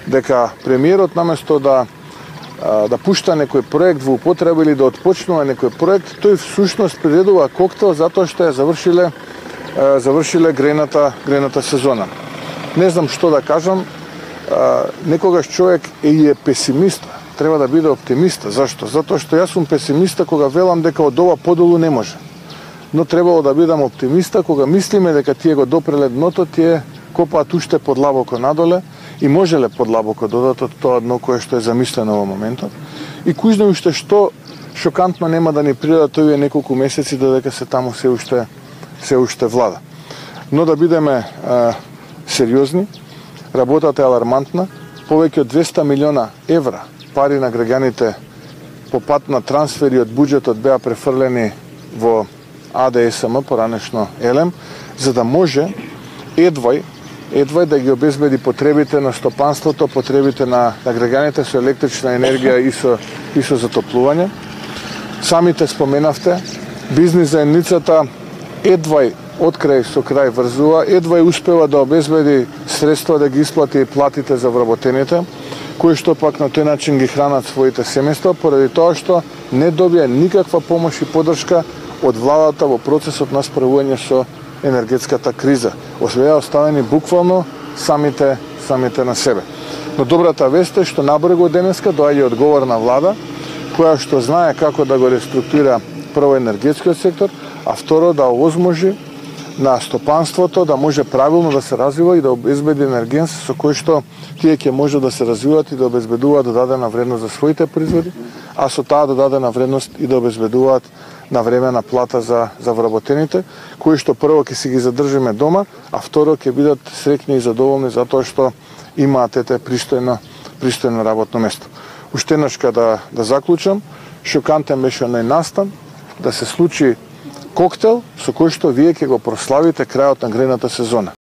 дека премиерот наместо да пушта некој проект во употреба или да отпочнува некој проект, тој всушност приредува коктел затоа што ја завршиле грејната сезона. Не знам што да кажам, некогаш човек е песимист, треба да биде оптимист. Зашто? Затоа што јас сум песимиста кога велам дека од ова подолу не може. Но требало да бидам оптимиста кога мислиме дека тие го допреле дното, тие копаат уште подлабоко надоле и можеле подлабоко додат од тоа дно кое што е замислено во моментот. И кој знае уште што шокантно нема да ни придадат овие неколку месеци додека се таму се уште влада. Но да бидеме сериозни, работата е алармантна, повеќе од 200 милиона евра пари на граѓаните по пат на трансфери од буџетот беа префрлени во АДСМ, поранешно ЕЛЕМ, за да може едвај да ги обезбеди потребите на стопанството, потребите на граѓаните со електрична енергија и со затоплување. Самите споменавте, бизнис заедницата едвај од крај со крај врзува, едвај успева да обезбеди средства да ги исплати платите за вработените, кои што пак на тој начин ги хранат своите семејства, поради тоа што не добија никаква помош и поддршка од владата во процесот на справување со енергетската криза. Беа оставени буквално самите на себе. Но добрата вест е што набрзо денеска доаѓа одговорна влада, која што знае како да го реструктурира прво енергетскиот сектор, а второ да овозможи на стопанството да може правилно да се развива и да обезбеди енергенс со кој што тие ќе може да се развиваат и да обезбедуваат додадена вредност за своите производи, а со таа додадена вредност и да обезбедуваат на време на плата за вработените, кои што прво ќе си ги задржиме дома, а второ ќе бидат среќни и задоволни затоа што имаат пристојно работно место. Уште еднашка да заклучам, шокантен беше оној настан да се случи коктел со кој што вие ќе го прославите крајот на грејната сезона.